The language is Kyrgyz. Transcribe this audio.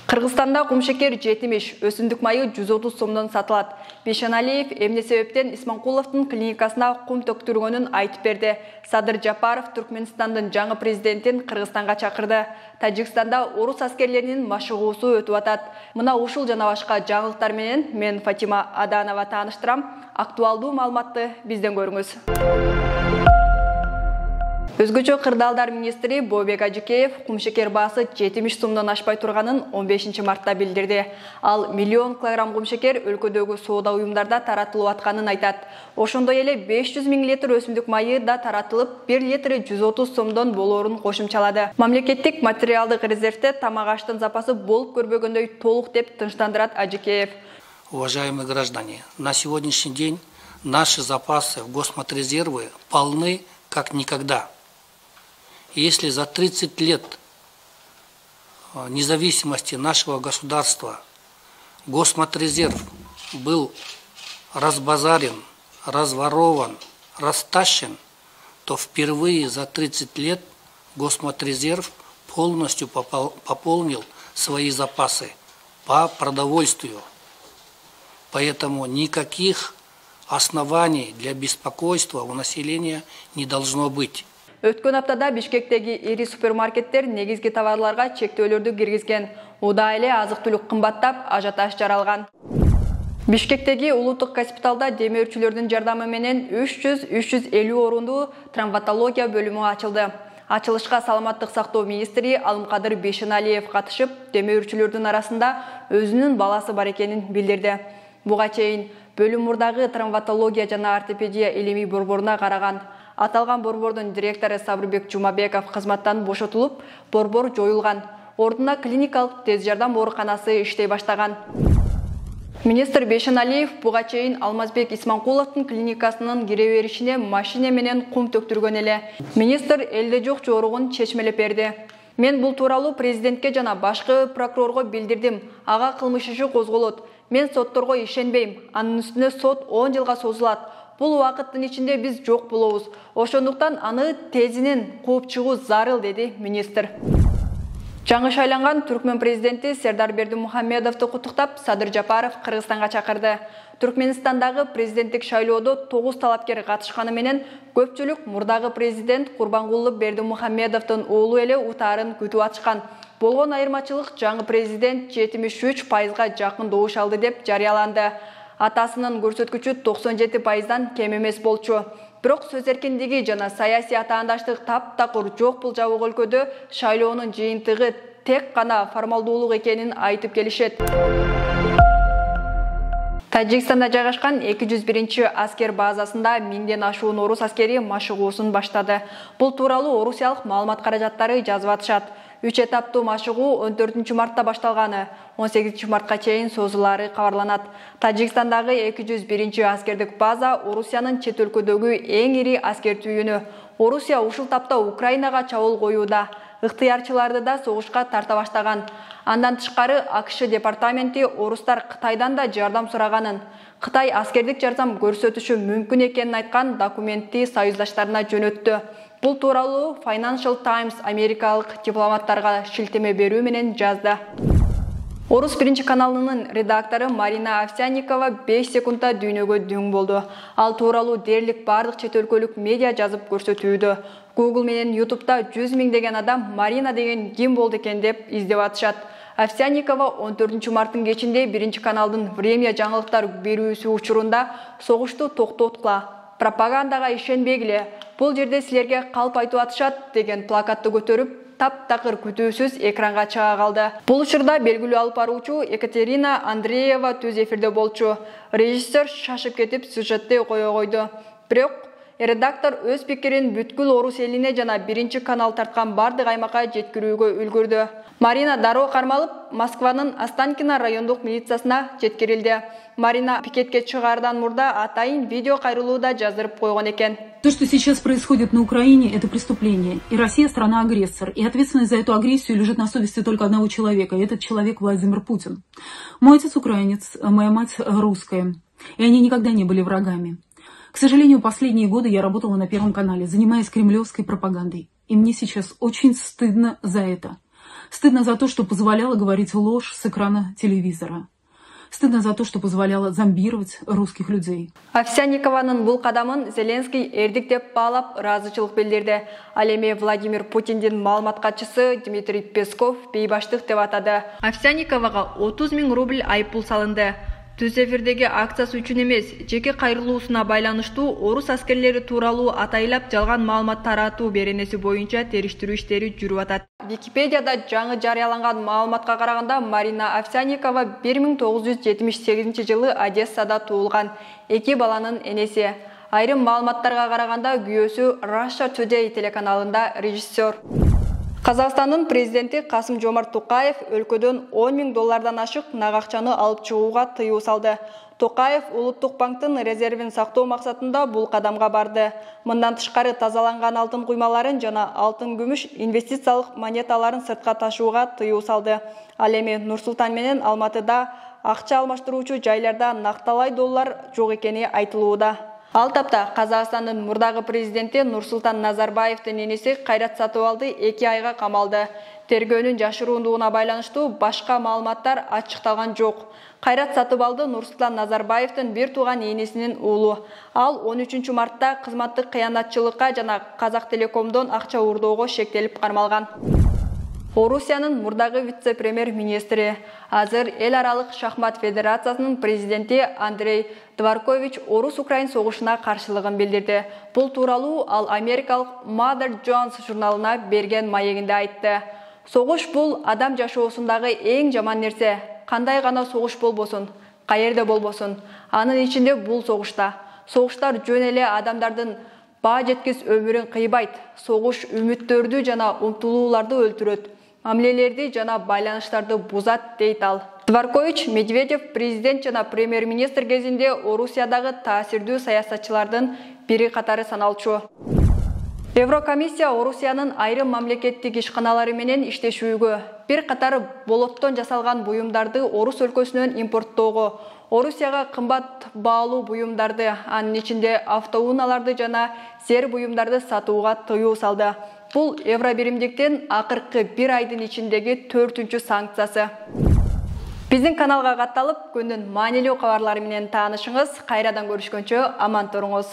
Кыргызстанда кумшекер жетимиш, өсүмдүк майы 130 сомдон сатылат. Бейшеналиев эмне себептен Исманкуловдун клиникасына кум төктүргөнүн айтып берди. Садыр Жапаров Түркмөнстандын жаңы президентин Кыргызстанга чакырды. Тажикстанда орус аскерлеринин машыгуусу өтүп атат. Мына ушул жана башка жаңылыктар менен мен Фатима Аданова тааныштырам. Актуалдуу маалыматты бизден көрүңүз. Өзгөчө кырдаалдар министри Бообек Ажыкеев кумшекер баасы 70 сомдон ашпай турганын 15 мартта билдирди. Ал миллион килограмм кумшекер өлкөдөгү соода уюмдарда таратылып атканын айтат. Ошондой эле 500 000 литр өсүмдүк майы да таратылып, 1 литри 130 сомдон болоорун кошумчалады. Мамлекеттик материалдык резервде тамак аштын запасы болуп көрбөгөндөй толук деп тынчтандырат Ажыкеев. Уважаемые граждане, на сегодняшний день наши запасы в Госматрезервы полны как никогда. Если за 30 лет независимости нашего государства Госматрезерв был разбазарен, разворован, растащен, то впервые за 30 лет Госматрезерв полностью пополнил свои запасы по продовольствию. Поэтому никаких оснований для беспокойства у населения не должно быть. Өткөн аптада Бишкектеги ири супермаркеттер негизги товарларга чектөөлөрдү киргизген. Уда эле азык-түлүк кымбаттап, ажиотаж жаралган. Бишкектеги улуттук госпиталда демөөрчүлөрдүн жардамы менен 300-350 орундуу травматология бөлүмү ачылды. Ачылышка саламаттык сактоо министри Алымкадыр Бейшеналиев катышып, демөөрчүлөрдүн арасында өзүнүн баласы бар экенин билдирди. Буга чейин бөлүм мурдагы травматология жана ортопедия илимий борборуна караган. Аталган борбордун директору Сабырбек Жумабеков кызматтан бошотулуп, борбор жоюлган. Ордуна клиникалык тез жардам ооруканасы иштей баштаган. Министр Бейшеналиев буга чейин Алмазбек Исманкуловдун клиникасынын кире беришине машина менен кум төктүргөн эле. Министр элде жок жоругун чечмелеп берди. Мен бул тууралуу президентке жана башкы прокурорго билдирдим. Ага кылмыш иши козголот. Мен сотторго ишенбейм. Анын үстүнө сот 10 жылга созулат. Бул убакыттын ичинде биз жок болобуз. Ошондуктан аны тезинен кууп чыгуу зарыл, деди министр. Жаңы шайланган Түркмөн президенти Сердар Бердимухамедовду куттуктап, Садыр Жапаров Кыргызстанга чакырды. Түркмөнстандагы президенттик шайлоодо 9 талапкер катышканы менен көпчүлүк мурдагы президент Курбангулы Бердимухамедовдун уулу эле утаарын күтүп атышкан. Болгон айырмачылык жаңы президент 73%га жакын добуш алды деп жарыяланды. Атасынын көрсөткүчү 97%дан кем эмес болчу. Бирок сөз эркиндиги жана саясий атаандаштык таптакыр жок бул жабык өлкөдө шайлоонун жыйынтыгы тек гана формалдуулук экенин айтып келишет. Тажикстанда жайгашкан 201 аскер базасында 1000ден ашуун орус аскери машыгуусун баштады. Бул тууралуу орусиялык маалымат каражаттары жазып атышат. 3 этаптуу машыгуу 14 мартта башталганы, 18 мартка чейин созулаары кабарланат. Тажикстандагы 201 аскердик база Орусиянын чет өлкөдөгү эң ири аскер түйүнү. Орусия ушул тапта Украинага чабуул коюуда. Ыктыярчыларды да согушка тарта баштаган. Андан тышкары АКШ департаменти орустар Кытайдан да жардам сураганын, Кытай аскердик жардам көрсөтүшү мүмкүн экенин айткан документти союздаштарына жөнөттү. Бул тууралуу Financial Times америкалык дипломаттарга шилтеме берүү менен жазды. Орус биринчи каналынын редактору Марина Овсянникова 5 секундта дүйнөгө дүң болду. Ал тууралуу дээрлик бардык чет өлкөлүк медиа жазып көрсөтүүдө. Google менен YouTube'да 100 000 адам Марина деген ким болду экен деп издеп атышат. Овсянникова 14 марттын кечинде биринчи каналдын Время жаңылыктар берүүсү учурунда согушту токтоткула, пропагандага ишенбегиле, бул жерде силерге калп айтып атышат деген плакатты көтөрүп, таптакыр күтүүсүз экранга чыга калды. Бул учурда белгилүү алып баруучу Екатерина Андреева түз эфирде болчу. Режиссер шашып кетип сюжетти кое койду. Бирок редактор өз пикирин бүткүл орус элине жана биринчи канал тарткан бардык аймакка жеткирүүгө үлгүрдү. Марина дароо кармалып, Москванын Останкино райондук милициясына жеткирилди. Марина пикетке чыгаардан мурда атайын видео кайрылууда жаздырып койгон экен. То, что сейчас происходит на Украине, это преступление. И Россия страна-агрессор. И ответственность за эту агрессию лежит на совести только одного человека. И этот человек Владимир Путин. Мой отец украинец, моя мать русская. И они никогда не были врагами. К сожалению, последние годы я работала на Первом канале, занимаясь кремлевской пропагандой. И мне сейчас очень стыдно за это. Стыдно за то, что позволяла говорить ложь с экрана телевизора. Стыдно за то, что позволяла зомбировать русских людей. Овсянникованын бул кадамын Зеленский эрдик деп баалап ыраазычылык билдирди. Ал эми Владимир Путиндин маалымат катчысы Дмитрий Песков бейбаштык деп атады. Овсянниковага 30 000 рубль айыппул салынды. Түз эфирдеги акциясы үчүн эмес, жеке кайрылуусуна байланыштуу орус аскерлери тууралуу атайлап жалган маалымат таратуу беренеси боюнча териштирүү иштери жүрүп атат. Википедияда жаңы жарыяланган маалыматка караганда Марина Овсянникова 1978 жылы Одессада туулган, 2 баланын энеси. Айрым маалыматтарга караганда күйөөсү Russia Today телеканалында режиссер. Казакстандын президенти Касым-Жомарт Токаев өлкөдөн 10 000 доллардан ашык нак акчаны алып чыгууга тыюу салды. Токаев Улуттук банктын резервин сактоо максатында бул кадамга барды. Мындан тышкары тазаланган алтын куймаларын жана алтын-күмүш инвестициялык монеталарын сыртка ташууга тыюу салды. Ал эми Нур-Султан менен Алматыда акча алмаштыруучу жайларда накталай доллар жок экени айтылууда. Ал тапта Казакстандын мурдагы президенти Нурсултан Назарбаевдин энеси Кайрат Сатыбалды 2 айга камалды. Тергөөнүн жашыруундугуна байланыштуу башка маалыматтар ачыкталган жок. Кайрат Сатыбалды Нурсултан Назарбаевдин бир тууган энесинин уулу. Ал 13 мартта кызматтык кыянатчылыкка жана Казактелекомдон акча уурдоого шектелип кармалган. Орусиянын мурдагы вице-премьер-министри, азыр эл аралык шахмат федерациясынын президенти Андрей Дворкович Орус-Украин согушуна каршылыгын билдирди. Бул тууралуу ал америкалык Mother Jones журналына берген маегинде айтты. Согуш бул адам жашоосундагы эң жаман нерсе. Кандай гана согуш болбосун, каерде болбосун, анын ичинде бул согушта. Согуштар жөн эле адамдардын баа жеткис өмүрүн кыйбайт. Согуш үмүттөрдү жана умтулууларды өлтүрөт. Мамилелерди жана байланыштарды бузат, дейт ал. Дворкович Медведев президент жана премьер-министр кезинде Орусиядагы таасирдүү саясатчылардын бири катары саналчу. Еврокомиссия Орусиянын айрым мамлекеттик ишканалары менен иштешүүгө, бир катар болоттон жасалган буюмдарды Орус өлкөсүнөн импорттоого, Орусияга кымбат баалуу буюмдарды, анын ичинде автоунааларды жана зер буюмдарды сатууга тыюу салды. Бул Евробиримдиктин акыркы 1 айдын ичиндеги 4-үнчү санкциясы. Биздин каналга катталып, күндүн маанилүү кабарлары менен таанышыңыз. Кайрадан көрүшкөнчө аман туруңуз.